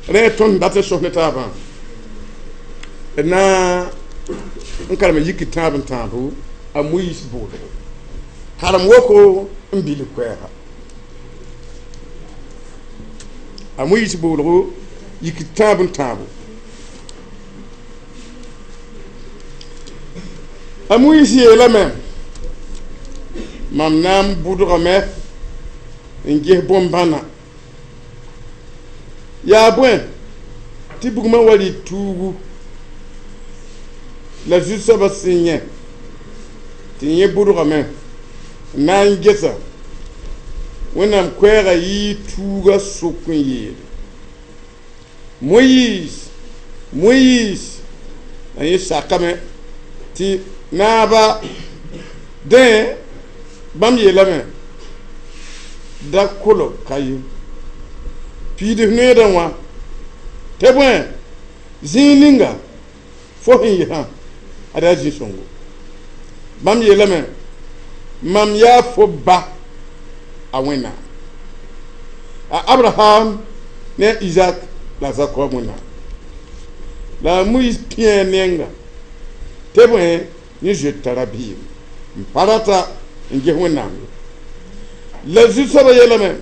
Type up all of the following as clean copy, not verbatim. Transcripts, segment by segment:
Rẽ tõnd dat n sõs ne taabã d na n karem yik tãab n tãabo a Moyiis boolgo karem woko n bil koɛɛga a Moyiis boolgo yik tãab n tãabo a Moyiis yeelame mam na n bʋdgame n ges bõn-bãna yaa bõe tɩ bugmã wa rɩ tuugu la zu-soabã sẽn yẽ tɩ yẽ bʋdgame n na n gesa Wẽnnaam koɛɛga yɩɩ tuuga sʋk n yeele Moyiis Moyiis la yẽ sakame tɩ naaba dẽ bãmb yeelame da kolg ka ye piidf noeedã wã tɩ bõe zĩig ninga fo sẽn yɩsã ad yaa zĩ-sõngo bãmb yeelame mam yaa fo ba a Wẽnnaam a Abraham ne a Izak la a Zakob Wẽnnaam la a Moyiis pĩa nenga tɩ bõe yẽ zoet t'a rabiim n pa rata n ges Wẽnnaam ye la zu-soabã yeelame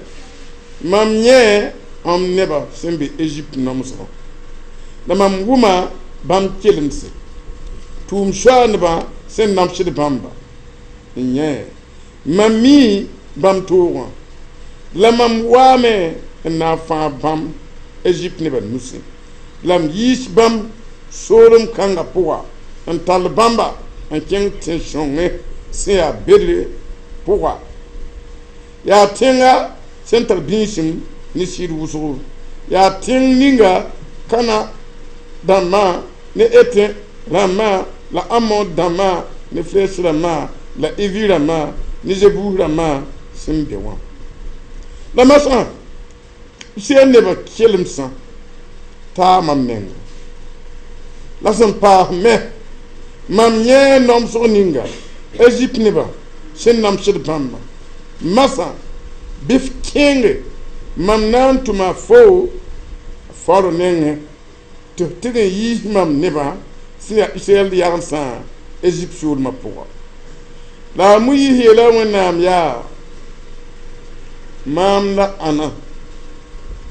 mam yẽ m nebã sẽn be Ezipt namsgã la mam wʋma bãmb kelemse tʋʋm soaandbã sẽn namsd bãmba n yẽ mam mi bãmb toogã la mam waame n na n fãag bãmb Ezipt nebã nusẽ la m yiis bãmb soolem kãngã pʋga n tall bãmba n kẽng tẽn-sõngẽ sẽn yaa bedre pʋga yaa tẽnga sẽn tar bĩisim ne sɩd wʋsgo yaa tẽng ninga Kãna dãmbã ne Ete rãmbã la Amod dãmbã ne Frɛs rãmbã la Ivi rãmbã ne Zebus rãmbã sẽn be wã la masã Israɛl nebã kelemsã taa mam menga la sẽn paas me mam yẽ namsg ninga Ezipt nebã sẽn namsd bãmba masã bɩ f kẽenge mam na n tʋma fo faoro nengẽ tɩ f tɩg n yiis mam nebã sẽn yaa Israɛl yagemsã Ezipt soolmã pʋga la a Moyiis yeela Wẽnnaam yaa maam la ãna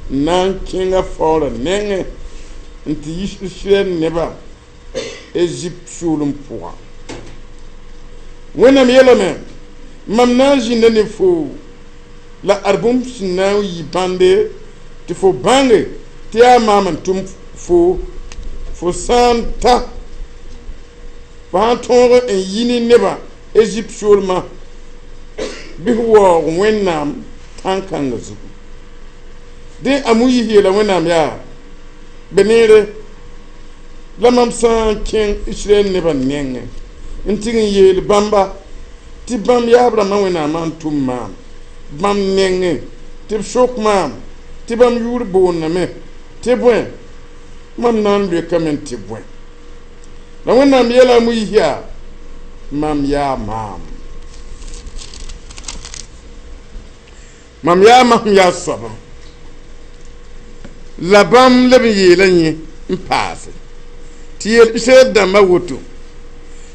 n na n kẽnga faoorã nengẽ n tɩ yis Israɛl nebã Ezipt soolem pʋga Wẽnnaam yeelame mam na n zĩnda ne fo la ad bũmb sẽn na n yɩ bãnde tɩ fo bãnge tɩ yaa maam n tʋm fo fo sã n ta fo sãn tõog n yi ne nebã Ezipt soolmã bɩ f waoog Wẽnnaam tãn-kãngã zugu dẽ a Moyiis yeela Wẽnnaam yaa be neere la mam sã n kẽng Israɛl nebã nengẽ n tɩg n yeel bãmba tɩ bãmb yaab rãmbã Wẽnnaamã n tʋm maam bãmb nengẽ tɩ b sok maam tɩ bãmb yʋʋr boondame tɩ bõe mam na n loekame tɩ bõe la Wẽnnaam yeela a Moyiis yaa mam yaa maam mam yaa mam yaa soabã la bãmb leb n yeela yẽ n paase tɩ yeel Israɛl dãmbã woto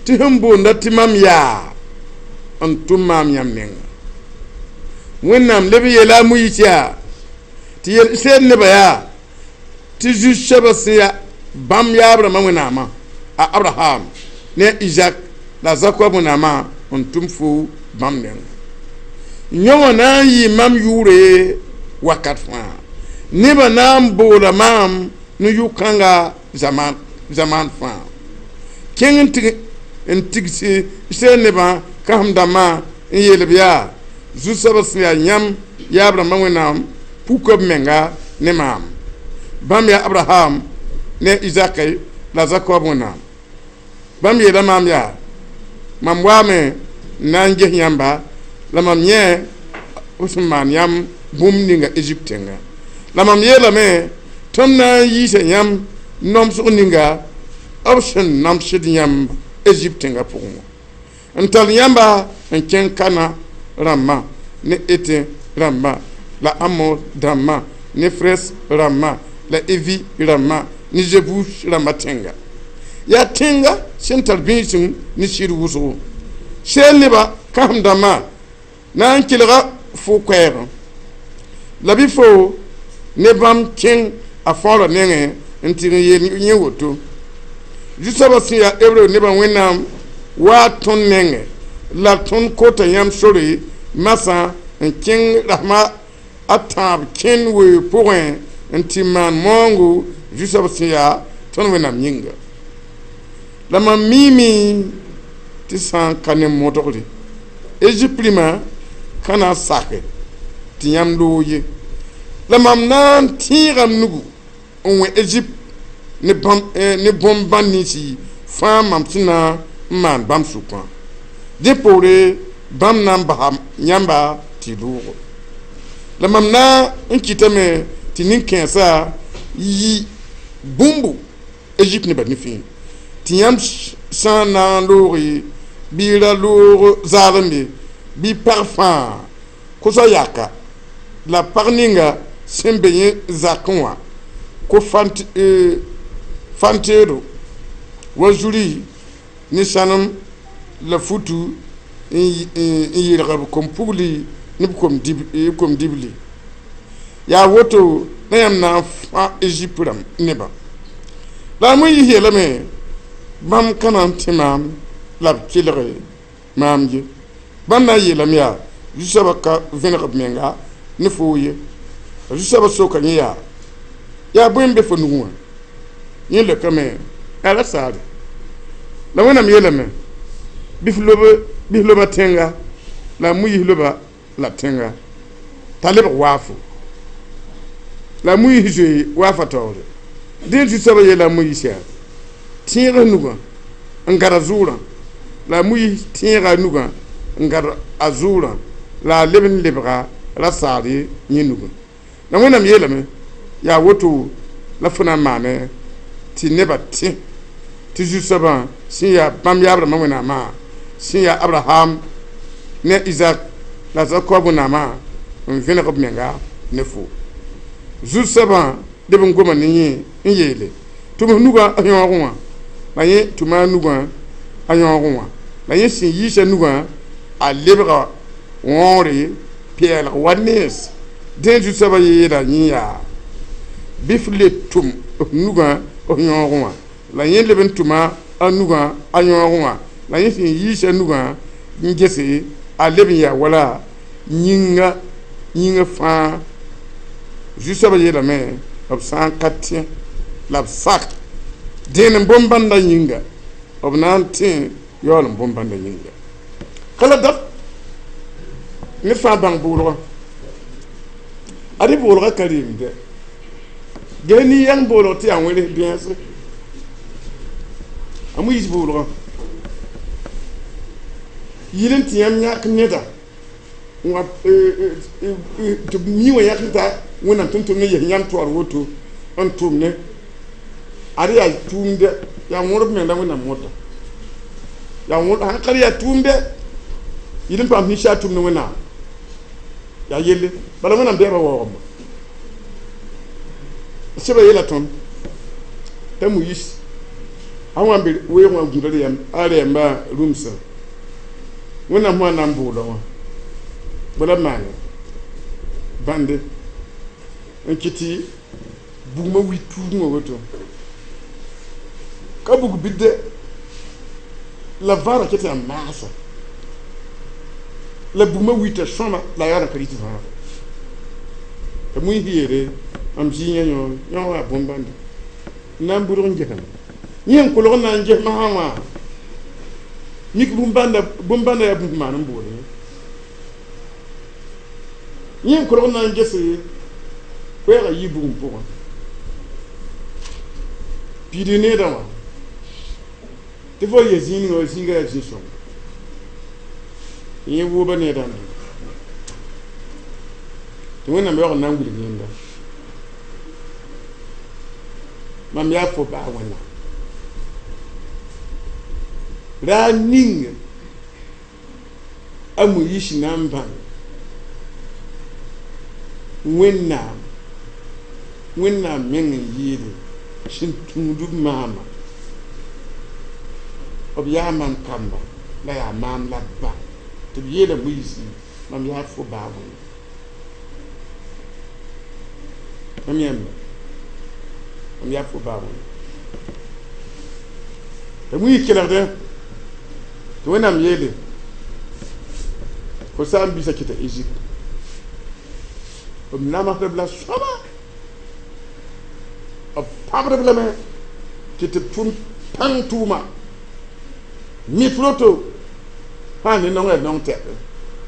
tɩ sẽn boonda tɩ mam yaa n tʋm maam yãmb menga Wẽnnaam leb n yeela a Moyiis yaa tɩ yeel Israɛl nebã yaa tɩ zu-soabã sẽn yaa bãmb yaab rãmbã Wẽnnaamã a Abraham ne a Izak la a Zakob Wẽnnaamã n tʋm fo bãmb menga yõ wã na n yɩ mam yʋʋre wakat fãa nebã na n boola maam ne yʋ-kãnga zamaan fãa kẽng n tigsi Israɛl nebã kãsem dãmbã n yeel b yaa zu-soabã sẽn yaa yãmb yaab rãmbã Wẽnnaam puka b menga ne maam bãmb yaa Abraham ne Izak la Zakob Wẽnnaam bãmb yeela maam yaa mam waame n na n ges yãmba la mam yẽ b sẽn maan yãmb bũmb ninga Ezipt tẽnga la mam yeelame tɩ m na n yiisa yãmb namsg ninga b sẽn namsd yãmb Ezipt tẽngã pʋgẽ wã n tall yãmba n kẽng Kana rãmbã ne Ete rãmbã la Amor dãmbã ne Frɛs rãmbã La Evi rãmbã ne Zebus rãmbã tẽnga yaa tẽnga sẽn tar bĩisem ne sɩd wʋsgo seel nebã kãsem dãmbã na n kelga fo koɛɛgẽ la bɩ fo ne bãmb kẽng a fãoorã nengẽ n tɩg n yeel yẽ woto zu-soabã sẽn yaa hebreu nebã Wẽnnaam waa tõnd nengẽ la tõnd kota yãmb sore masã n kẽng rasma a tãab kẽnd weoog pʋgẽ n tɩ maan maoongo zu-soab sẽn yaa tõnd Wẽnnaam yĩnga la mam miime tɩ sã n ka ne modgre Ezipt rĩmã ka na n sake tɩ yãmb loog ye la mam na n tẽega m nugu n wẽ Ezipt ne bõn-bãn ninsi fãa mam sẽn na n maan bãmb sʋkã dẽ poore bãmb na n basa yãmba tɩ loogo la mam na n kɩtame tɩ nin-kãensã yi bũmbu Ezipt nebã nifẽ tɩ yãmb sã n na n looge bɩ ra loog zaalembe bɩ pag fãa kosa yaka la pag ninga sẽn be yẽ zakẽ wã ko fanteedo wa zuri ne sãnem la futu n yelg b kom-pugli ne b kom-dibli yaa woto la yãmb na n fã Ezipt rãmb nebã la a Moyiis yeelame bãmb ka na n tẽ maam la b kelg maam ye bãmb na n yeelame yaa zu-soabã ka vẽneg b menga ne foo ye la zu-soabã soka yẽ yaa yaa bõe n be fo nugẽ wã yẽ leokame yaa ra saare la Wẽnnaam yeelame bɩ f loba tẽnga la a Moyiis loba la tẽnga t'a lebg waafo la a Moyiis zoe waafa taoore dẽ zu-soabã yeela a Moyiis yaa tẽeg nugã n gad a zʋʋrã la a Moyiis tẽega a nugã n gad a zʋʋrã la a leb n lebga ra saare yẽ nugã la Wẽnnaam yeelame yaa woto la fo na n maane tɩ nebã tẽ tɩ zu-soabã sẽn yaa bãmb yaab rãmbã Wẽnnaamã sẽn yaa Abraham ne Izak la Zakob Wẽnnaamã n vẽneg b menga ne fo zu-soabã leb n goma ne yẽ n yeele tʋm f nugã a yõogẽ wã la yẽ tʋma a nugã a yõogẽ wã la yẽ sẽn yiisa nugã a lebga wõore pɛɛlg wa nens dẽ zu-soabã yeela yẽ yaa bɩ f le tʋm f nugã f yõogẽ wã la yẽ leb n tʋma a nugã a yõogẽ wã la yẽ sẽn yiisa nugã n gese a leb n yaa wala yĩnga yĩnga fãa zu-soabã yeelame b sã n ka tẽ la b sak dẽen n bõn-bãndã yĩnga b na n tẽ yaool n bõn-bãndã yĩnga ka la dat ned fãa bãng bʋʋlgã ad bʋʋlgã ka reemdɛ ges nin-yãng boolg tɩ yaa wẽrs bẽesre a Moyiis bʋʋlgã yɩl n tɩ yãmb yãk neda tɩ b mi wã yãk t'a Wẽnnaam tʋm-tʋmd n yes yãmb toaar woto n tʋm ne ad yaa tʋʋmdɛ yaa wõrb meng la Wẽnnaam mõta yaa sãn ka yaa tʋʋmdɛ yɩl n paam ninsaar tʋmd Wẽnnaam yaa yelle bala Wẽnnaam bɛɛbã waoogamba sẽba yeela tõnd t'a Moyiis a wã n be weoog wã gũuda a rɛɛmbã rũmsã Wẽnnaam sã na n bʋʋla wã bala b maane bãnde n kɩ tɩ bugmã wi tuugmã woto ka bug bidde la vaara ket yaa maasa la bugmã wita sõma la a yaa n ka rɩt vãaga t'a Moyiis yeele mam zĩ yã yõ yõ yaa bõn-bãnda n na n bʋdg n gesame yẽ n kolg n na n ges masã wã mik bũmb-bãnda yaa bũmb maan n boole yẽ n kolg n na n gese koɛɛgã yɩ bugum pʋgẽ piidg needã wã tɩ fo yɛ zĩig ninga wa zĩiga yaa zĩ-sõng yẽ wooba needã n dʋ tɩ Wẽnnaam yaoog n na n wilg yẽnda mam yaa fo baa Wẽnnaam raar ning a Moyiis na n bãng Wẽnnaam Wẽnnaam meng n yeele sẽn tũud b maama b yaa mam kamba la yaa maam la ba tɩ b yeela Moyiisi mam yaa fo baa wẽnde mam yãmba mam yaa fo baa wẽnde tɩ Moyiis kelgdẽ tɩ Wẽnnaam yeele fo saam-biisã kɩta Egypte b namsd b la sõma b pãbd b lame tɩ tɩ b tʋm pãng tʋʋma mif roto fãa ne nongã nong tɛk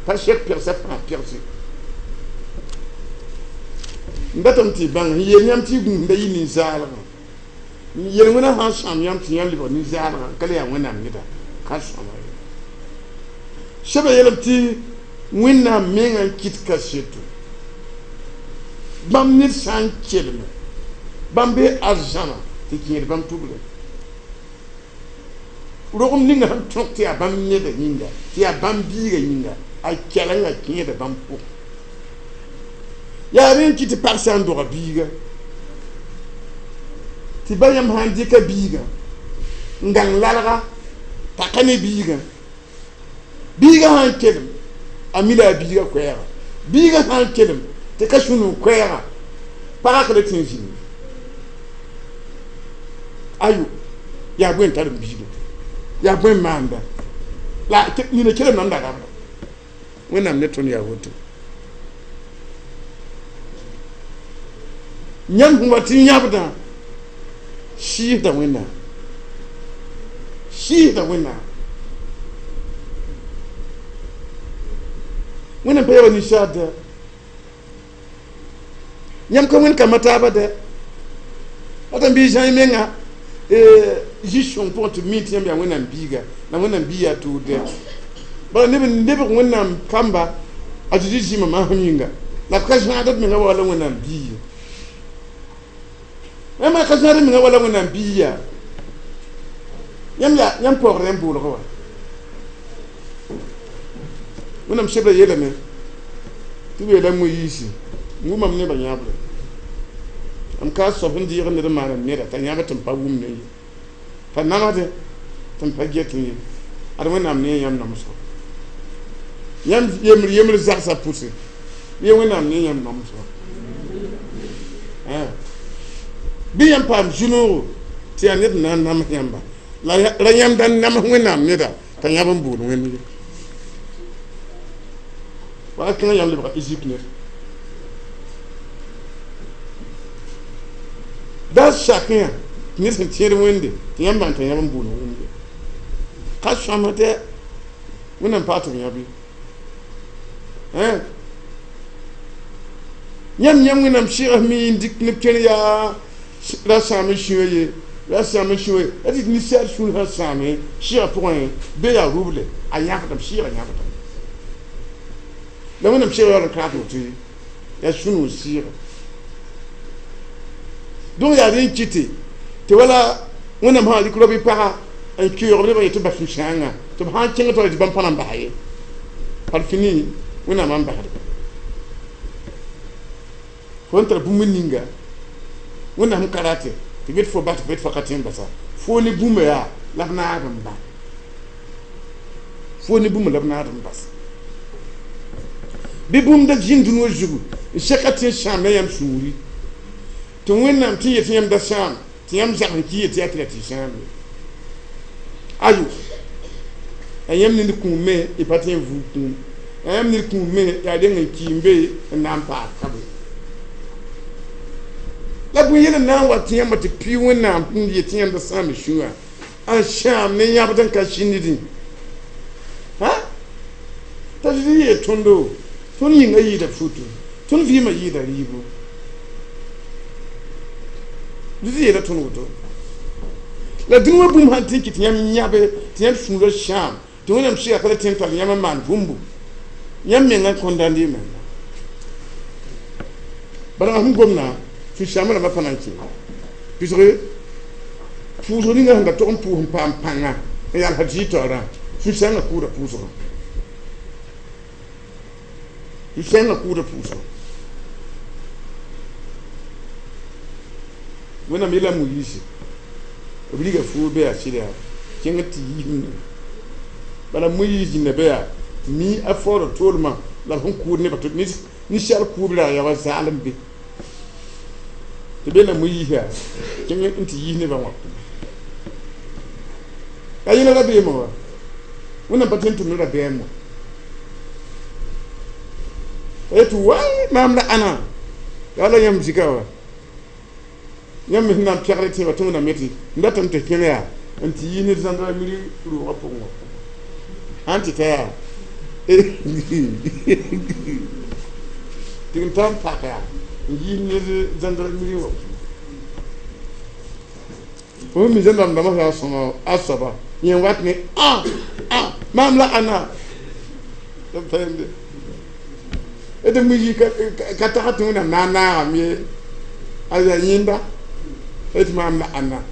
pa sek pegsa fãa pegse n datame tɩ y bãng n yeel yãmb tɩ y gũusda yɩ nin-zaalgã n yel wẽna sã n sãam yãmb tɩ yãmb lebg nin-zaalgã ka le yaa Wẽnnaam neda ka sõma ye sɛba yeelame tɩ Wẽnnaam mengã n kɩt kaseto bãmb ned sã n kelme bãmb bee arzãma tɩ kẽed bãmb tubrã rogem ninga sẽn tõk tɩ yaa bãmb neda yĩnga tɩ yaa bãmb biiga yĩnga a kɛlenga kẽeda bãmb pʋgẽ yaa rẽ n kɩt tɩ pag sã n doga biiga tɩ ba yãmb sã n dɩka biigã n gãng lalga taka ne biigã biigã sã n kelem a mi la a biigã koɛɛga biigã sã n kelem tɩ ka sũ-noog koɛɛga pagã ka le tɩ n zĩnd ayo yaa bõe n tar n biigã yaa bõe n maanda la nina kelem nan da rabda Wẽnnaam ne tõnd yaa woto yãmb sẽn wa tɩ yãbdã sɩɩsda Wẽnnaam sɩɩsda Wẽnnaam Wẽnnaam pa yaa wa ninsaar dɛ yãmb ka wẽnd kambã taaba dɛ ata n bɩ zãe menga zĩ-sõng pʋgẽ tɩ b mi tɩ yãmb yaa Wẽnnaam biiga la Wẽnnaam bii yaa tʋʋd dɛ bala neb n lebg Wẽnnaam kamba a Zezi zĩma maasem yĩnga la b ka zãagd b menga wala Wẽnnaam bii ye yãmb ka zãagd b menga wala Wẽnnaam bii yaa yãmb yaa yãmb paoogd yãmb boolgã wa Wẽnnaam sebra yeelame tɩ b yeela Moyiisi n wʋmam nebã yãabrã m ka soab sẽn deeg ned n maan neda t'a yãb tɩ m pa wʋmd ye t'a namsdẽ tɩ m pa get ye ad Wẽnnaam ne yãmb namsgo yãmb yembr yembr zagsã pʋse bɩ Wẽnnaam ne yãmb namsgo bɩ yãmb paam zu-noogo tɩ yaa ned n na n nams yãmba la ra yãmb da n nams Wẽnnaam neda t'a yãb n bool Wẽnd ye wala kẽngã yãmb lebga Egypte ned da sakẽ tɩ ned sẽn tẽed Wẽnde tɩ yãmb bãng t'a yãb n bool Wẽnde ka sõama dɛ Wẽnnaam paa tɩ b yãb ye yãmb yãmb Wẽnnaam sɩgs mi n dɩk neb kẽr yaa ra sãam n sĩwã ye ra sãam n sĩwã ye la tɩ ninsaal sũur sã sãame sɩgã pʋgẽ be yaa ruble a yãbdame sɩɩgã yãbdame la Wẽnnaam sɩgã yaool n kaas woto ye yaa sũ-noog sɩɩga donc yaa rẽ n kɩte tɩ wala Wẽnnaam sã rɩk rao bɩ paga n keoog nebã yetɩ bas sũ-sãangã tɩ b sã n kẽng tɩ bãmb pa na n basa ye par fini Wẽnnaam n basdba fo n tar bũmb ninga Wẽnnaam sẽn ka rate tɩ get fo bas tɩ fo ka tẽ n basa fo ne bũmba yaa la b naag n ba fo ne bũmba la b naag n bas bɩ bũmb da zĩnd dũni wã zugu n seka tɩ n sãam la yãmb sũuri tɩ Wẽnnaam tɩ yet yãmb da sãam tɩ yãmb zag n ki yetɩ yaa tɩ ra tɩ sãam ye ayo a yãmb ned kũum me y pa tɩ n vʋʋg kũum a yãmb ned kũum me yaa reng n ki n be n na n paas ka be la bõe yel n na n wa tɩ yãmba tɩ pɩ Wẽnnaam n yet tɩ yãmb da sãam sũyã n sãam ne yãbd n ka sĩndẽ t'a Zezi yeel tõndo tõnd yĩngã yɩɩda futu tõnd vɩɩmã yɩɩda rɩɩbo Zezi yeela tõnd woto la dũni wã bũmb sãn tɩ n kɩt yãmb yãbe tɩ yãmb sũurã sãam tɩ Wẽnnaam sɩga ka le tẽ n tall yãmb n maan bũmbu yãmb mengã n kõndãnd y menga bala sẽn gomdã sũ-sãambã rãmbã pa na n kẽ pɩsg pʋʋsg ninga sẽn da tog n pʋʋs n paam pãnga n yalsd zɩ-taoorã sũ-sãangã kʋʋda pʋʋsgã sũ-sãangã kʋʋda pʋʋsgã Wẽnnaam yeela Moyiisi b riga fuug be yaa sɩd yaa kẽng tɩ yiisẽ bala Moyiis zĩnda be yaa mi a faoora toolmã la b sẽn kʋʋd nebã tɩ ninsaal kʋʋb la yaa wa zaalem be tɩ be la Moyiis yaa kẽng n tɩ yiis nebã wã la yẽla rabeemã wa wẽnnaam pa tõe n tʋmd rabeem wã t'a yetɩ waay maam la ãna yaa la yãmb zika wa yãmb me sẽn na n pɛgd tẽebã tɩ wẽnnaam yetɩ n datame tɩ kẽng yaa n tɩ yiis ne zãndra miri rʋʋgã pʋgẽ wã sãn tɩ ta yaa tɩ n ta n pak yaa n yiis ned zãndra miri wã fo mi zãndam-dãmbã sã n sõma a soaba yẽ wat ne ã ã maam la ãna d Moyiis ka tags tɩ wẽnnaam na n naagame ye a yaa yẽnda tɩ maam la ãnna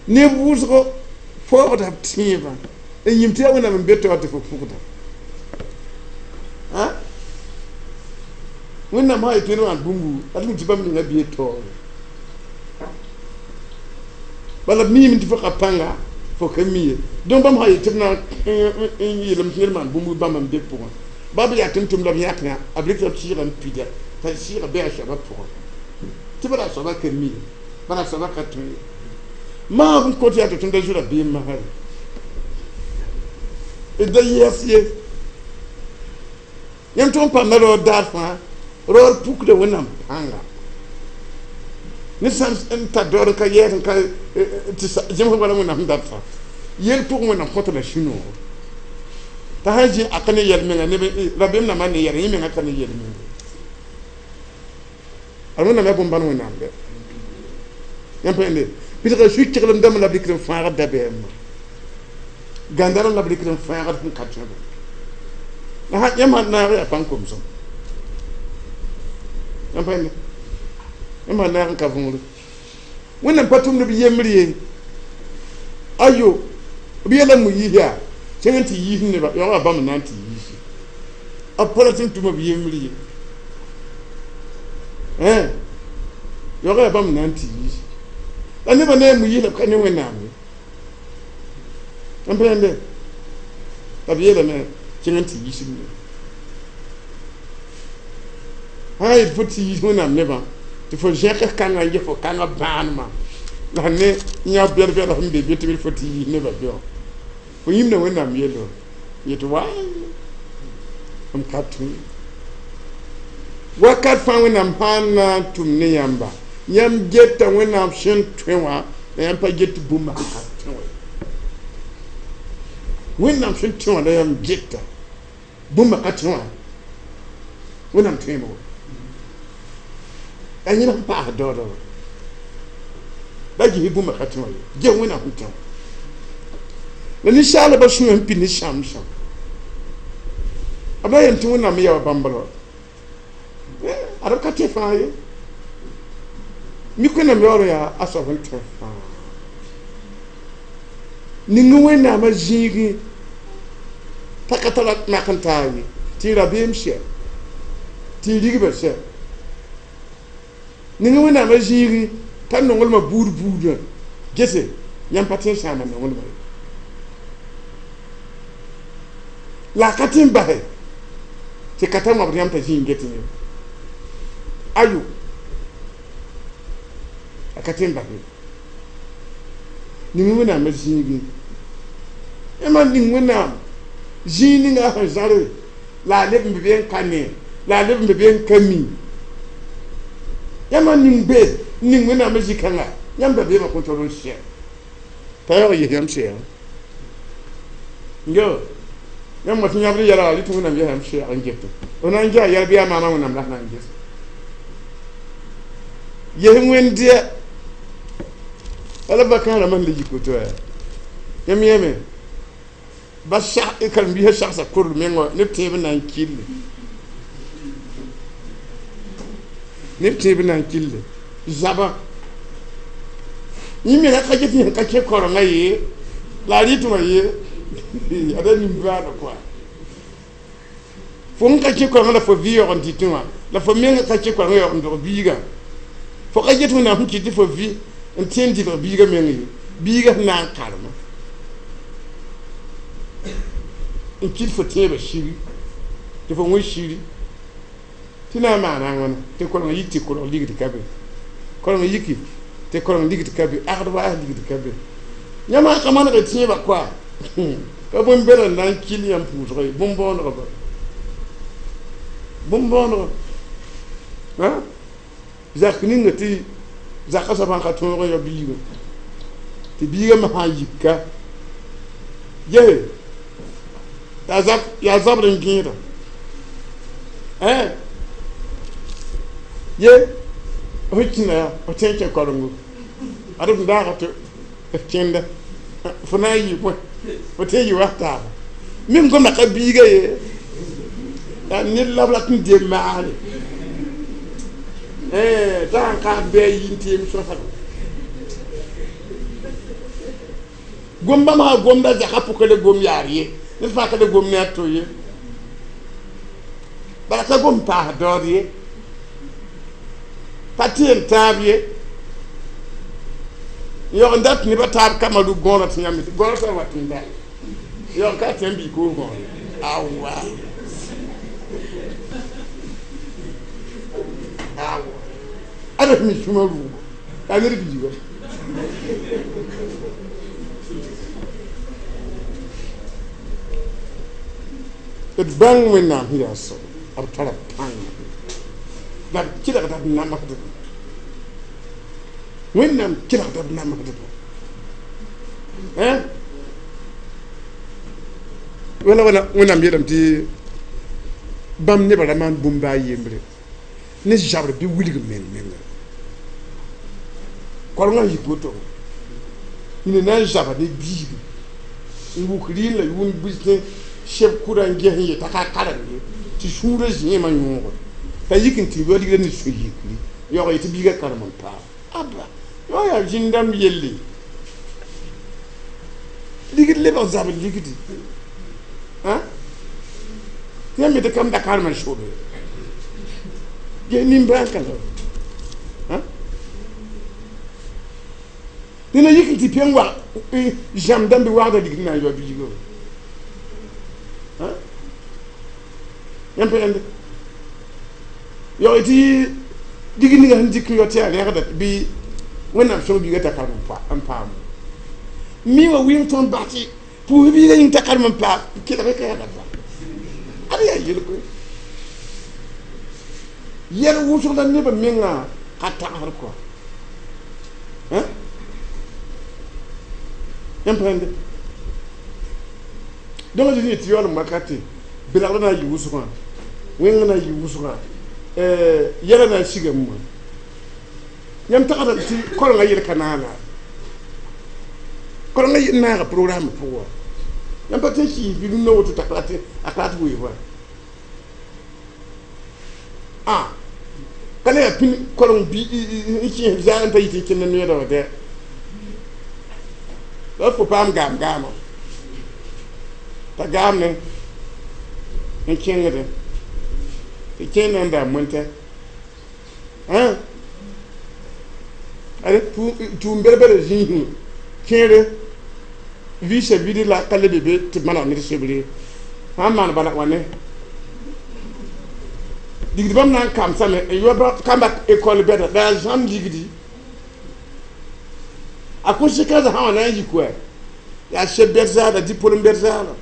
neb wʋsgo faoogda b tẽebã n yĩm tɩ yaa wẽnnaam n be taoor tɩ fo pʋgda wẽnnaam sã yetɩ ned wã bũmbu a tɩ tɩ bãmb ninga bee taoore bala b miime tɩ fo ka pãnga fo ka mi ye donc bãmb sã yetɩ b na n yeelame tɩ ned maan bũmb bãmb n be pʋgẽ ba b yaa tʋm-tʋmda b yãk yã b rɩk b sɩɩga n pida t'a sɩɩga bɩ a soabã pʋgẽ tɩ bala a soabã ka mi ye bala a soabã ka tõe ye maag n kot yaa tɩ tõnd da zu rabeem masã ye d da yɛs ye yãmb tʋg n pamda raood daar fãa raood pukda wẽnnaam pãnga ned sã n tar daood n ka yɛɛs n ka tɩ zẽmsg wala wẽnnaam sẽn dat fãa yel pʋgẽ wẽnnaam kõta la sũ-noogo t'a sã n zĩ a ka ne yɛl-menga neb rabeem nambã ne yɛl yẽ menga ka ne yel-menga ad wẽnnaam yaa bõn-bãn wẽnnaam bɛ yãmb pa yẽnde pidga su-keglem dãmb la b rɩkd n fãagd dabeemã gãndarem la b rɩkd n fãagd sẽn ka tõe la yãmb sã naag yaa pãn-komsem yãmb pa yẽnde yãmb sã naag n ka võore wẽnnaam pa tʋmd b yembr ye ayo b yeela Moyiis yaa kẽng n tɩ yiis neba yaoogã bãmb n na n tɩ yiisi b pa rat n tʋma b yembr ye yaoogã yaa bãmb n na n tɩ yiisi la nebã ne a Moyiis la b ka ne wẽnnaam ye n pa yẽnde la b yeelame kẽng n tɩ yiis b neba sã n yet fo tɩ yiis wẽnnaam nebã tɩ fo zẽk kãngã n ges fo kãngã bãanemã la ne yã bɛd-bɛd sẽn be be tɩ b fo tɩ yiis nebã be wã fo yĩmda wẽnnaam yello yetɩ waay m ka tõe wakat fãa wẽnnaam sã n na n tʋm ne yãmba yãmb geta wẽnnaam sẽn tõe wã la yãmb pa get bũmb sẽn ka tõe wã wẽnnaam sẽn tõe wã la yãmb geta bũmba ka tõe wã wẽnnaam tõeeme wã la yẽl sẽn paas daooda wã la ges bũmba ka tõe wã ye ges wẽnnaam sẽn tõe wã la ninsaalbã sũyã sẽn pid ne sãmsã b la yem tɩ wẽnnaam yaa wa bãmb la ad b ka tẽ fãa ye mik wẽnnaam yaool yaa a soab sẽn tõe fãa ning wẽnnaamã zĩigẽ t'a ka tara mak n taa ye tɩ rabeem sɛ tɩ rigbã sɛ ning wẽnnaamã zĩigẽ t'a nonglmã buud buudã gese yãmb pa tõe n sãama nonglmã ye la a ka tɩ n basɛ tɩ ka ta wãbd yãmb t'a zĩ n get ye ayo a ka tɩ n basɛ ning wẽnnaamã zĩigẽ yãmb ning wẽnnaam zĩig ninga sẽn zãre la a leb n be n ka ne la a leb n be n ka mi yãmb ning be ning wẽnnaamã zĩ-kãnga yãmb dabeemã kõn tol n sɛ t'a yaoog yes yãmb sɛɛg yo yãmb wa tɩ yãbd yɛlga rɩ tɩ wẽnnaam ges yãmb sɛɛg n get f na n ges a yɛl bɩ yaa maamã wẽnnaam la sẽn na n ges ges wẽnd-dɩɛ wala bakã rãmbã sẽn le yik woto yaa yãmb yẽme ba karen-biisã sagsa korl mengã neb tẽeb n na n kille neb tẽeb n na n kille zabã yẽ menga ka get yẽ ka kẽ korengã ye la a rɩtẽ wã ye ada nimbaana kɔa fo n ka kẽ korengã la fo vɩ yaoog n dɩtẽ wã la fo menga ka kẽ korengã yaoog n dog biigã Fo ka get wẽnnaam sẽn kɩt tɩ fo vɩ n tẽ n dɩlg biigã meng ye biigã sẽn na n karema n kɩt fo tẽebã shiri tɩ fo wẽ shiri tɩ na n maana a wãna tɩ koreng yik tɩ korg ligd ka be koreng yiki tɩ koreng ligd ka be agd waas ligd ka be yãmb ka maneg tẽebã koa ka bõn-bɛd n na n kɩl yãmb pʋʋsg ye bõn-bõonegã ba bõn-bõonegã zak ninga tɩ zaka soabã ka tõog n yao biigã tɩ biigã me sã n yika gese yaa zabr n gẽeda ye f kĩna yaa f tẽ n kẽ korengo ad f daaga tɩ f kẽnda fo na n yɩ bõe fo tẽ n yɩ wa taaba mim gomda ka biiga ye yaa ned la b rat n dem maane t'a sãn kaas bɩ a yi n teem sõsg gom bãmb sã gomda zaka pʋka la gom yaar ye ned fãa ka le gom ne a to ye bala ka gom paas daood ye pa tɩ n tãab ye n yaoog n dat nebã taab kambã rug gõorã tɩ yãmb gõorã sã n wat n da yaoog ka tɩ yãmb bii koos gõor awa awa ada mi sũma rʋʋgo yaa ned biiga d bãng wẽnnaam sẽn yaa soab b tara pãnga la b kelgda b namsdb wẽnnaam kelgda b namsdb wala wala wẽnnaam yeelame tɩ bãmb nebã ra maan bũmb a yembre ne zabr bɩ wilg meng menga korengã yik woto yĩna na n zaba ne biigi n wuk rɩɩn la yʋʋm bilsẽ seb kʋda n ges n yeta ka karem ye tɩ sũurã zẽemã yõoge t'a yik n tɩ yao ligrã ne sũ-yikri yaoog ye tɩ biigã karem n paam aba yõ yaa zĩn-dãmb yelle ligd lebg zabr ligdi tɩ yãmb tɩ kam da karem n sobe ges nimbãan ka la nena yik n tɩ pẽng wa zãmb dãmb bɩ wagda ligd na n yao biigã yãmb pa yãnde yaoog tɩ ligd ninga sẽn dɩk n yao tɩ yaa rẽgda bɩ wẽnnaam sõng biigã t'a karem n paam mi wa wɩng tõnd bas tɩ pʋʋs biigã yĩng t'a karem n paam kelg ka yaa ba ad yaa yel-koe yɛl wʋsg la nebã mengã ka tagsd kɔa yãmb pa yãnde donc a zĩ tɩ yaoolem wakate belgda na n yɩ wʋsgã wẽngã na n yɩ wʋsgã yɛla na n sigame wã yãmb tagsda tɩ korengã yel ka naana korengã naaga programme pʋgã wã yãmb pa tɩ n kɩɩs bɩ rũndã woto t'a ka rat wees wa ka le yaa pĩn koreng bi n kẽes zaag n ta yit n kẽnd noeeda wã dɛ la fo paam gaam gaamã t'a gaam ne n kẽngdẽ tɩ kẽer na n daa mõntɛ tʋʋm bɛd-bɛda zĩisẽ kẽere vɩɩsã bid la ka le be be tɩ maneg ned sebre sã n maan bala wã ne ligd bãmb na n kamsame n yao kamba ekɔl bɛda la yaa zãmb ligdi a conséquence sã wã na n yik wa yaa seb bɛd zaala diplôme bɛd zaala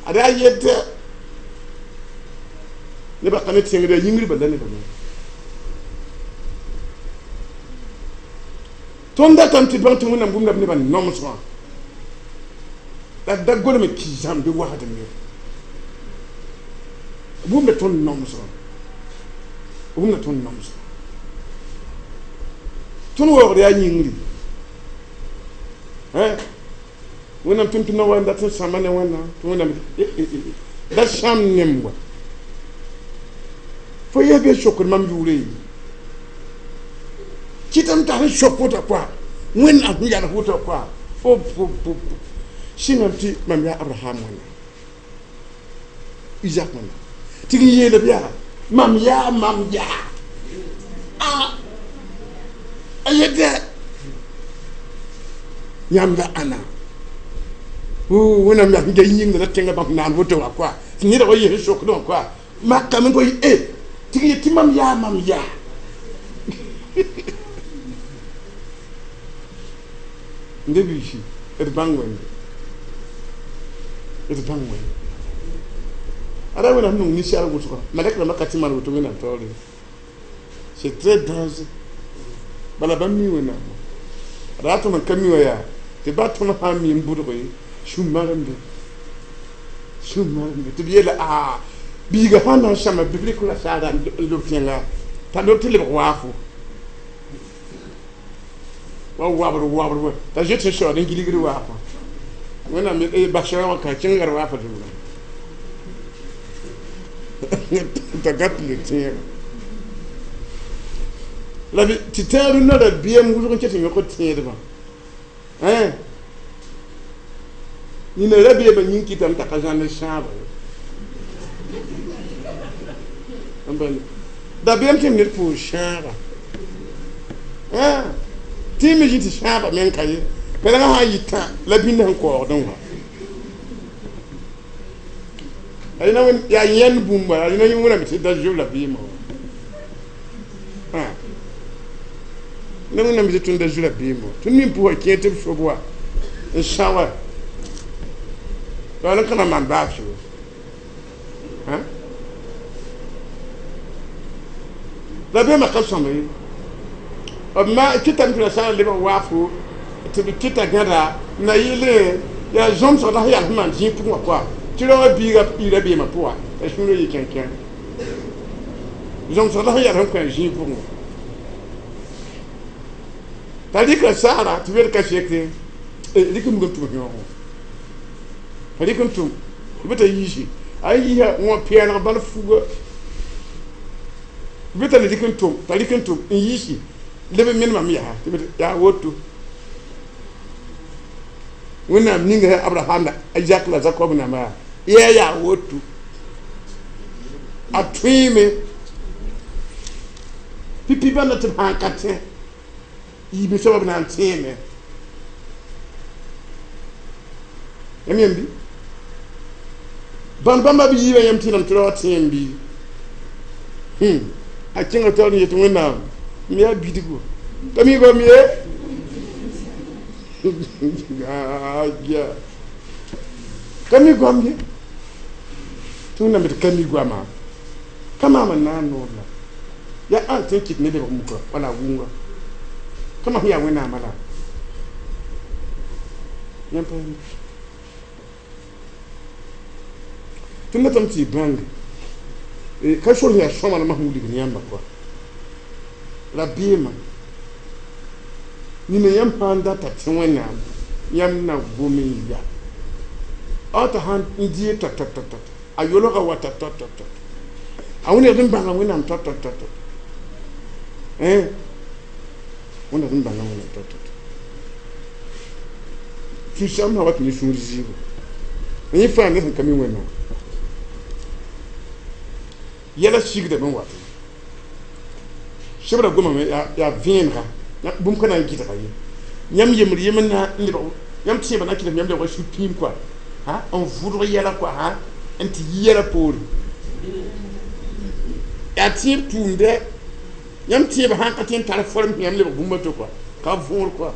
ad yaa yetɛ nebã ka ne tẽngd yaa yĩngr bala nebã me tõnd datame tɩ bãng tɩ wẽnnaam gomda b nebã nomsgã la da golem n ki zãmb bɩ wasdem ye wʋmda tõnd nomsgã wʋmda tõnd nomsgã tõnd waoogd yaa yĩngri wẽnnaam tʋm-tʋmdã wa n dat n sãmba ne wẽnnaam tɩ wẽnnaam da sãmb nem wa fo yɛs bɩ sokd mam yʋʋre ye kɩtame t'a sẽn sok wota koa wẽnnaam sẽn yals wota koa fo sɩngame tɩ mam yaa abraham wẽnnaam Isaac wẽnnaam tɩ n yeelb yaa mam yaa A yet yãmb la ãna wẽnnaam yaa sẽn ga yĩngda la tẽngã bãmb naan woto wã koa tɩ neda wa yes n sokdẽ wã koa makame ko e tɩ yet tɩ mam yaa mam yaa n de biisi d bãng wẽnde d bãng wẽnde ada wẽnnaam nong ninsaal wʋsga malɛk rãmbã ka tɩ maan woto wẽnnaam taoore. C'est très dangereux. Bala bãmb mi wẽnnaam ra tɩ m ka mi wã yaa tɩ ba tõnd sã n mi n bʋdg sũ-marembe sũ-marembe tɩ b yeela a biiga sã n na n sãma bɩ rɩk la saara n lob tẽnga t'a lob tɩ lebg waafo wa wabr wabr wa t'a zoet sẽn saood n gilgd waafã wẽnnaam bas wã ka kẽnga d waafã zugã t'a gat le tẽega la tɩ tãag rũnnã rabiam wʋsg n ket n yõk tẽedbã nina rabiamã yĩng kɩtame t'a ka zãnd sãaba dabeem tɩ m ned pʋʋs sãaba tɩ me zĩ tɩ sãaba meng ka ye pɛlengã sã n yɩ tã la bĩnd sẽn kaoogdẽ wã yaa yẽnd bũmba yaa wẽnnaam tɩ da zob la beemã wã na wẽnnaam tɩ tõnd da zu rabeem wã tõnd nin pʋgã kẽer tɩ b sob wa n sã wa la n ka na maan baasgo rabeemã ka sõma ye b ma kɩtame tɩ la sã n lebg waafo tɩ b kɩta gãda na yɩle yaa zõmsg la sẽn yaa sẽn maan zĩig pʋgẽ wã koa tɩ raoã biiga ii rabeemã pʋga t'a sũurã yɩ kẽnkẽng zõmsg la sẽn yaa sẽn kõ a zĩig pʋgẽ wã t'a rɩka saara tɩ wed ka seke rɩk n nug n tʋm yõogo t'a rɩk n tʋm tɩ bɩ t'a yiisi a yiisa wã pɛɛlg bal fuga bɩ t'a le rɩk n tʋm t'a rɩk n tʋm n yiisi leb n menemame yaa tɩ yaa woto wẽnnaam ninga Abraham la Isaac la Jacob namba yaa yaa woto a tõeeme pipi bãnda tɩ b sãn ka tẽ yiime soaba b na n tẽeme yãmb yãmb bɩ bãmb bãmba b yiibã yãmb tẽedame tɩ ra wa tẽem bɩ a kẽnga taoor n yet wẽnnaam m yaa bidgo t'a mi goam ye ka mi goam ye tɩ wẽnnaam tɩ ka mi goama ka maam n na n noor la yaa ãn tɩ n kɩt ne lebg muka wala wʋnga kama sẽn yaa wẽnnaamã la yãmb pa yãmb tɩ n datame tɩ y bãnge ka sor sẽn yaa sõama la masẽn wilgd yãmba koa rabeemã nina yãmb sã n data tẽ wẽnnaam yãmb na gom n ya a t'a sãn n dee tɔt tɔt tɔt tɔt a yolga wa tɔt tɔt tɔt tɔt a wẽnegd n bãnga wẽnnaam tɔt tɔt tɔt tɔt wẽnnaam n bãnga wẽnnaam tɔt tɔt sũ-sãmb sã wa tɩ ne sũur zɩɩbo yẽ fãa ne sẽn ka mi wẽnnaam yɛla sigdame n wat sebra gomame yaa vẽenega bũmb ka na n gɩdga ye yãmb yembr yembr na n lebg yãmb tẽebã na n kɩdem yãmb lebga sũ-pĩim koa n vʋdg yɛla koa n tɩ yi yɛla poore yaa tẽeb tʋʋmdɛ yãmb tẽebã sãn ka tẽ n tar form yãmb lebg bũmb a to koa ka võor koa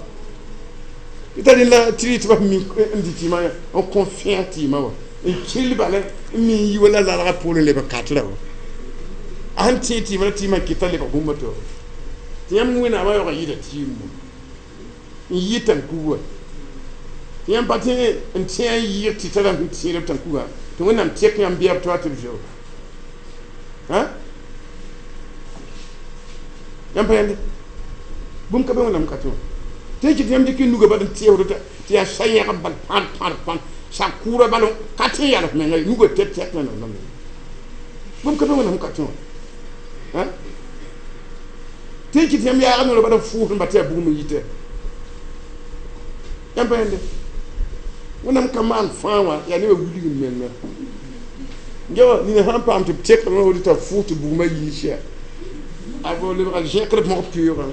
tɩ t'a rẽnd la tɩ rɩ tɩ bas mi n dɩ tɩɩmã n kõ fẽa tɩɩmã wã n kell bala n mi n yi wala lalga poorẽ lebg katra wã a sẽn tẽeg tɩɩmã la tɩɩmã kɩta lebg bũmb a to tɩ yãmb wẽnnaamã yaoog n yɩɩda tɩɩm n yɩ tãnkuga tɩ yãmb pa tẽ n tẽ n yɩɩg tɩ tara sẽn tẽed b tãnkugã tɩ wẽnnaam tɛk yãmb bɩa b toa tɩ b zeo yãmb pa yãnde bũmb ka be wẽnnaam ka tẽ wã tɩ kɩt yãmb dɩk n nuga bal n tẽesd tɩ yaa sa-yẽgb bal pãd pãd pãd sa kʋʋra bal ka tẽ yals menga nuga tɛt tɛk wẽnnaam bũmb ka be wẽnnaam ka tẽ wã tɩ kɩt yãmb yaagd noorã bal n fʋʋsd n ba tɩ yaa bugum n yitɛ yãmb pa yãnde wẽnnaam ka maan fãa wã yaa nebã wilg n menga ngewa nina sãn paam tɩ b tekd wã t'a fʋʋs tɩ bugmã yiis yaa a lebga zẽkd mog peoogã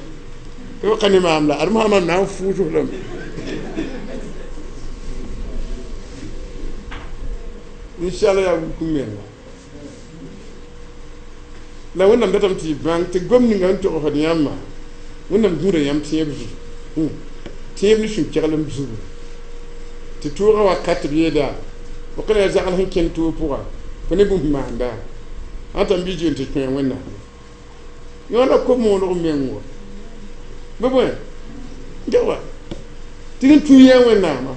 Tɩ ka ne maam la ad maam na n fuusg lame inshallah yaa wuk menga la wẽnnaam datame tɩ y bãng tɩ gom ninga sẽn togsd yãmbã wẽnnaam gũuda yãmb tẽeb zugu tẽeb ne sũ-keglem zugu tɩ toogã wakat b yeela b ka la zagl sẽn kẽnd toog pʋga fo ne bũmb maanda ãn tãm bɩ zoen tɩ tõe wẽnnaam yõ la ko-mooneg meng wa bɩ bõe wa tɩ rẽ tũ yã wẽnnaamã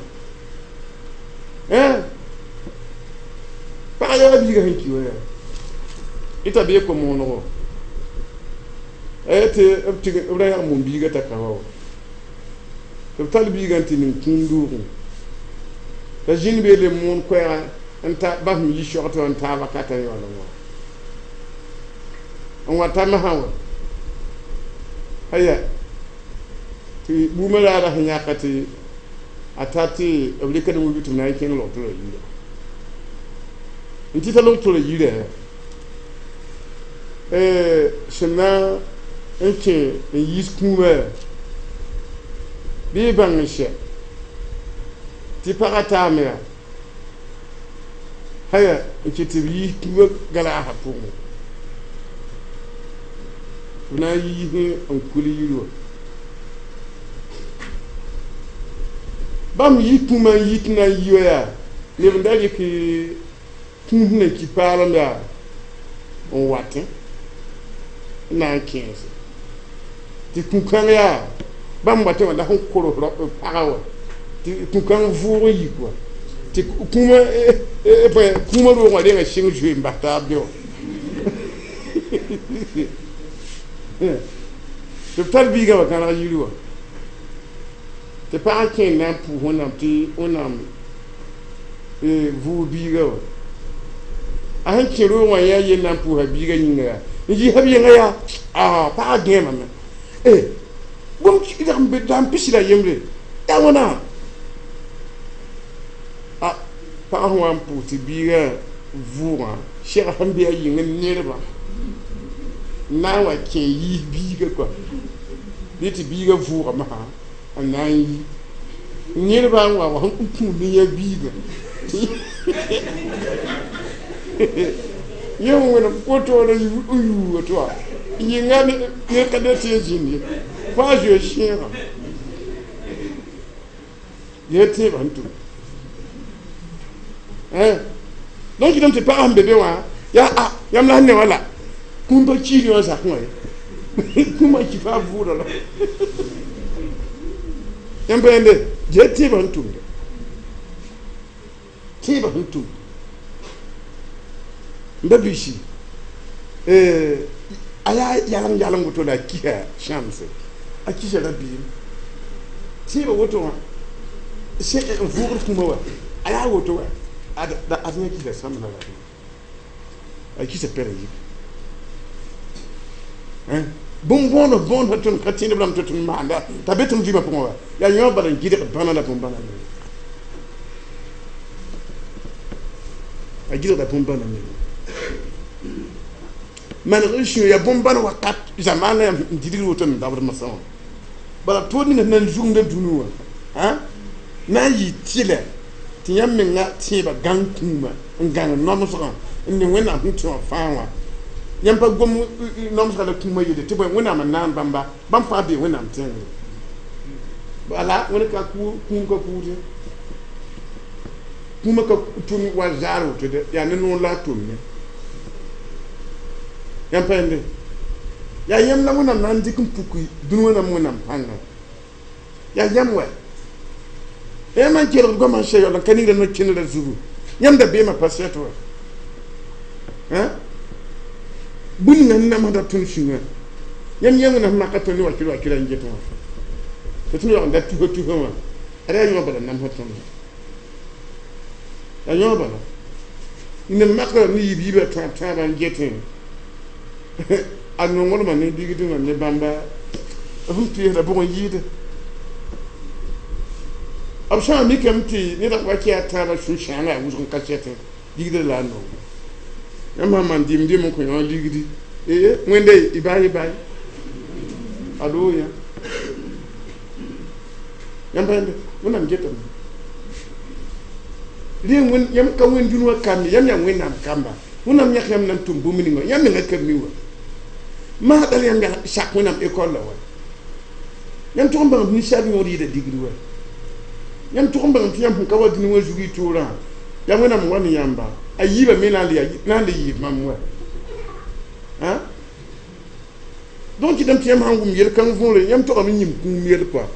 pag yaa biiga sẽn ki wa yaa ita bee ko-moonego tɩ b ra yag mum biiga t'a ka wa tɩ b tall biigã n tɩ ning kũum doogẽ t'a zĩnd bee le moon koɛɛgã n ta basem yi soagtɩ wã n taab wakatã yaool n wa n wa ta masã wa aya tɩ buumã raara sẽn yãka tɩ a ta tɩ b rɩka ne wi tɩ b na n kẽng log-toorã yira n tɩ ta log-toorã yira sẽn na n kẽ n yiis kũumã bɩ y bãng n sɛ tɩ pagã taame yaa haya n kɩt tɩ b yiis kũumã galaasã pʋgẽ b na n yiis n kul yiri wã bãmb yiis kũumã n yi tɩ na n yi wa yaa neb n da rɩk kũus na ki paalem yaa n watẽ n na n kẽese tɩ kũ-kãng yaa bãmb watẽ wã la sẽn kors pagã wã tɩ kũ-kãng vʋʋg n yik wa tɩ kũumã roog wã renga sɩng zoe n bas taab be wã tɩ b tar biigã wã gãneg yiri wã tɩ pagã kẽer na n pʋʋs wẽnnaam tɩ wẽnnaam vʋʋg biigã wã a sẽn kẽ roog wã yaa yel na n pʋʋsa biigã yĩnga yaa n yiisa b yenga yaa pagã gẽemame bũmb dag n pisi la yembre yaa wãna pagã sẽn wa n pʋʋs tɩ biigã vʋʋgã sɛg sẽn be a yĩng nedbã n na n wa kẽ yiis biigã kɔa bɩ tɩ biigã vʋʋga masã n na n yi nedbã n wa wa sẽn kũud ne yã biigã yẽ wẽnem kotoor n yuuga tɩ wa yɩnga ned ka ne tɩ n zĩnd ye fãa zoe sẽegã yẽ tẽebã sẽn tʋm donc kɩtame tɩ pagã sẽn be be wã yaa yãmb la sẽn ne wã la kũum pa kiir wã zakẽ wã ye kũumã ki faa vʋʋda la yãmb pa yẽnde yẽ tẽebã sẽn tʋmda tẽebã sẽn tʋm n ba biisi a yaa yaleng yaleng woto la a kisa sãamse a kisa rabiim tẽebã woto wã n vʋʋgd kũumã wa a yaa woto wa ad yã kisa sãmbna la a kisa pɛrã yik bũmb bõond tõnd ka tẽedb lame tɩ tõnd maanda t'a be tɩ m vɩɩmã pʋgẽ wa yaa yõ bala n gɩdg bãna la bõn-bãna menga a gɩdgda bõn-bãna menga maneg n sũyã yaa bõn-bãn wakat zamaana yaa n didgd woto n dabd masã wã bala toor ninga sẽn na n zugda dũni wã na n yɩ tɩlɛ tɩ yãmb menga tẽebã gãng kũumã n gãng nomsgã n ne wẽnnaam sẽn tẽ wã fãa wã yãmb pa gom nomsga la kũumã yelle tɩ bõe wẽnnaam n naan bãmba bãmb fãa bee wẽnnaam tẽngre bala wẽnd ka kũum ka kuud kũumã ka tʋm wa zaar woto de yaa ne noor la a tʋmne yãmb pa yẽnde yaa yãmb la wẽnnaam na n dɩk n puk dũni wẽnnaam wẽnnaam pãnga yaa yãmb wa yãmb n kelgd goamã n sɛ yaool n ka ningrã no-kẽnerã zugu yãmb da beemã pa sɛt wa bũmb ninga sẽn namsda tõnd sũyã yãmb yã wẽnnaam sẽn maka tõnd ne wakɩr wakɩra n get wã tɩ tõnd yaool n da tusa tusa wã ad yaa yõ bala namsd tõnd yaa yõ bala neb makra ne yiib yiibã tãab tãabã n getẽ a nonglmã ne ligdẽ ne bãmba f peesda bʋg n yɩɩde b sã n mikame tɩ ned wa kɩ a tãabã sũ-sãanga yaa wʋsg n ka sɛtẽ ligdã la a nongo yãmb sã n maan dɩm dɩm n kõ yõ ligdi wẽnde y baay y baay alo yã Yãmb pa Wẽnnaam getame. Rẽ yãmb ka wẽnd dũni wã kamb ye, yãmb yaa Wẽnnaam kamba. Wẽnnaam yãk yãmb na n tʋm bũmb ninga yãmb menga ka mi wa. Maasdã yãmb sak Wẽnnaam école la wa. Yãmb tʋg n bãng tɩ ninsaal yõod yɩɩda digr wa. Yãmb tʋg n bãng tɩ yãmb sẽn ka wa dũni wã zug y toorã, yaa Wẽnnaam wa ne yãmba. A yiibã me na n le yɩɩb mam wa. Donc kɩtame tɩ yãmb sãn wʋm yel-kãng võore, yãmb togame n yĩm kũum yel kɔa.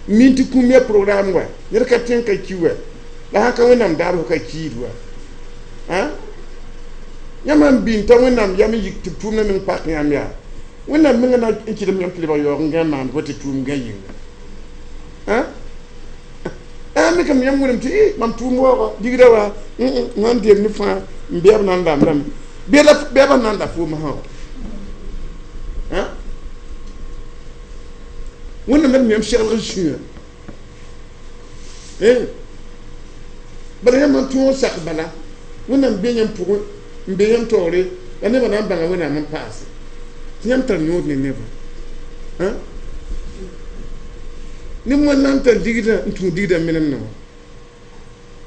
Min tɩ kũum yaa programme wa, ned ka tõe n ka ki wa. La sãn ka Wẽnnaam daar fo ka kiid wa. Yãmb sãn bɩ n ta Wẽnnaam yam n yik tɩ b tʋʋmdã meng pak yãmb yaa. Wẽnnaam menga na n kɩdem yãmb tɩ lebg yaoog n gã n maand fo tɩ tʋʋm gã yĩnga. A me kam yãmb wẽnem tɩ mam tʋʋm waooga digrã wa sãn deem ne fãa n bɛɛb na n lambdame. Bɛɛbã na n la foom sã wa. Wẽnnaam la yãmb seglg sũyã. Bala yãmb n tõog sak bala Wẽnnaam be yãmb pʋgẽ n be yãmb taoore la nebã na n bãnga Wẽnnaam n paase tɩ yãmb tar yõod ne nebã. Neb wãn na n tar ligdã n tũud ligdã menemdã wã.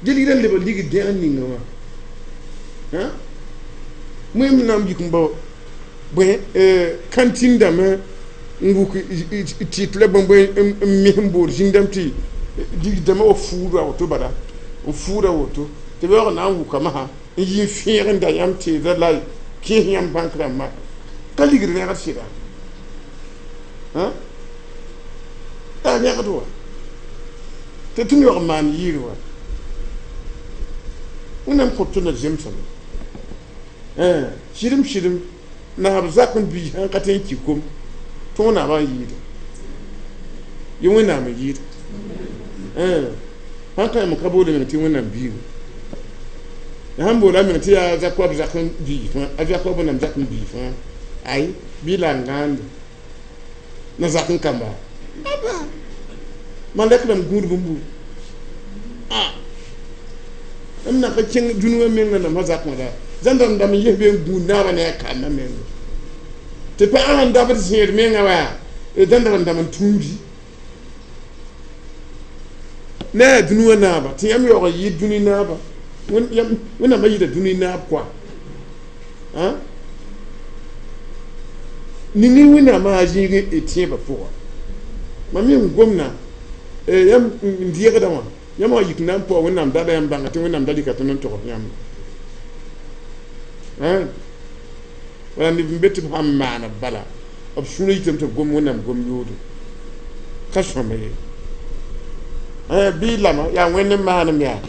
Dẽ ligdã n lebg ligd dẽgr ninga wã. Wẽm na n yik n bao bõe kãntĩn dãmbã n wuk tɩt la bõe n mis n bood zĩig-dãmb tɩ ligd-dãmbã wa fuuda woto bala n fuuda woto tɩ b yaoog na n wʋka masã n yi n fẽeg n da yãmb teedã la kẽes yãmb bãnk rãmbã ka ligd rẽgd sɩda. Yaa rẽgd wa tɩ tɩ yaoog n maan yɩɩr wa. Wẽnnaam kõt tõndã zemsame. Sɩdem sɩdem naab zak n bii sãn ka tõe n ki kom tõog naabã n yɩɩda. Yẽ Wẽnnaam n yɩɩda. Sãn ka yãmb ka boole meng tɩ Wẽnnaam biiga. La sãn boola meng tɩ yaa Zakob zak n bii fãa, a Zakob Wẽnnaam zak n bii fãa, ay bɩ la n gãande na zak n kamba. Aba malɛk rãmb gũud bũmbu. M na ka kẽng dũni wã menga namsã zakẽ la zãn dãmb n yes be n gũud naabã ne a kambã menga. Tɩ pagã sẽn dabd zẽed menga wa zãn dãmb n tũudi. Ne a dũni wã naaba tɩ yãmb yaoog n yɩɩd dũni naaba. Wẽnnaam a yɩɩda dũni naab kɔa. Ning Wẽnnaamã a zĩig y tẽebã pʋga. Mam yẽ n gomna yãmb n dɩegdã wã yãmb wã yik na n paoog Wẽnnaam da la yãmb bãnga tɩ Wẽnnaam da rɩka tõnd n togs yãmb. Wala neb n be tɩ b sãn maan bala b sũurã yitame tɩ b gom Wẽnnaam gom yoodo. Ka sõma ye. Bɩ lama yaa Wẽnd n maanem yaa.